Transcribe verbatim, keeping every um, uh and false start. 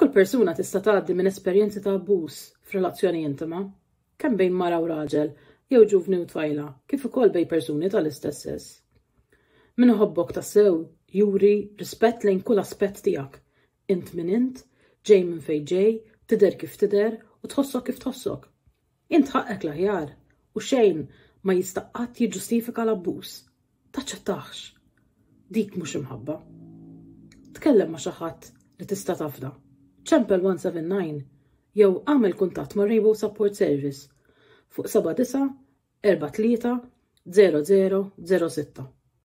Kull persuna tista' tgħaddi minn esperjenzi ta' abbuż f'relazzjoni intima, kemm bejn mara u raġel, jew ġuvni u tfajla, kif ukoll bejn persuni tal-istess sess. Min iħobbok tassew juri rispett lejn kull aspett tiegħek. Int min int, ġej minn fejn ġej, tidher kif tidher u tħossok kif tħossok. Int ħaqqek l-aħjar u xejn ma jista' qatt jiġġustifika l-abbuż. Taċċettahx. Dik mhux imħabba. Tkellem ma' xi ħadd li tista' tafda. Ċempel one seven nine jew għamel kuntatt ma' Rainbow Support Service fuq seba' disa' erba' tlieta zero zero zero sitta.